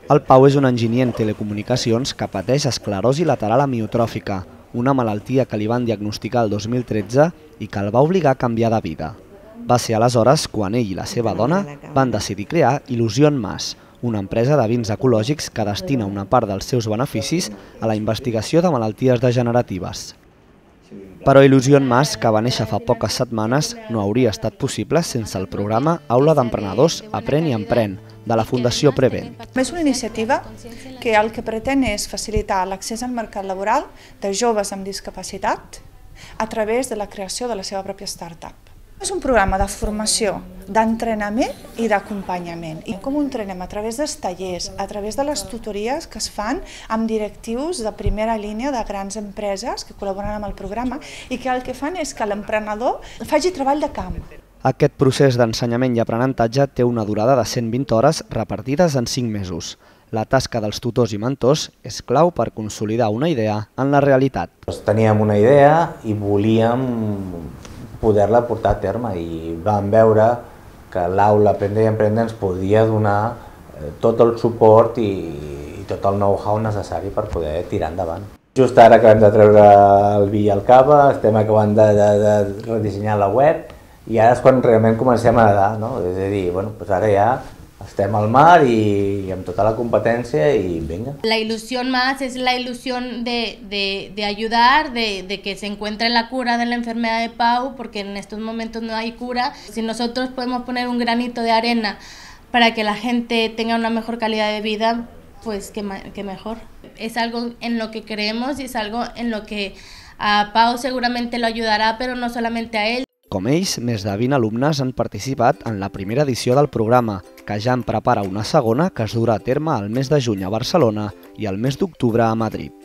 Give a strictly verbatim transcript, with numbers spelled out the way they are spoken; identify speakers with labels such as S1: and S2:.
S1: El Pau és un enginyer en telecomunicacions que pateix esclerosi lateral amiotròfica, una malaltia que li van diagnosticar el dos mil tretze i que el va obligar a canviar de vida. Va ser aleshores quan ell i la seva dona van decidir crear Il·lusion Mas, una empresa de vins ecològics que destina una part dels seus beneficis a la investigació de malalties degeneratives. Però Il·lusion Mas, que va néixer fa poques setmanes, no hauria estat possible sense el programa Aula d'Emprenedors Aprèn i Emprèn, de la Fundació Prevent.
S2: És una iniciativa que el que pretén és facilitar l'accés al mercat laboral de joves amb discapacitat a través de la creació de la seva pròpia startup. És un programa de formació, d'entrenament i d'acompanyament. I com ho entrenem? A través dels tallers, a través de les tutories que es fan amb directius de primera línia de grans empreses que col·laboren amb el programa i que el que fan és que l'emprenedor faci treball de camp.
S1: Aquest procés d'ensenyament i aprenentatge té una durada de cent vint hores repartides en cinc mesos. La tasca dels tutors i mentors és clau per consolidar una idea en la realitat.
S3: Teníem una idea i volíem poder-la portar a terme i vam veure que l'aula Aprendre i Emprendre ens podia donar tot el suport i tot el know-how necessari per poder tirar endavant. Just ara acabem de treure el vi i el cava, estem acabant de, de, de redissenyar la web i ara és quan realment comencem a nedar, no? És a dir, bueno, pues ara ja estem al mar y amb tota la competencia y venga.
S4: La ilusión más es la ilusión de, de, de ayudar, de, de que se encuentre la cura de la enfermedad de Pau, porque en estos momentos no hay cura. Si nosotros podemos poner un granito de arena para que la gente tenga una mejor calidad de vida, pues que, que mejor. Es algo en lo que creemos y es algo en lo que a Pau seguramente lo ayudará, pero no solamente a él.
S1: Com ells, més de vint alumnes han participat en la primera edició del programa, que ja en prepara una segona que es durà a terme al mes de juny a Barcelona i al mes d'octubre a Madrid.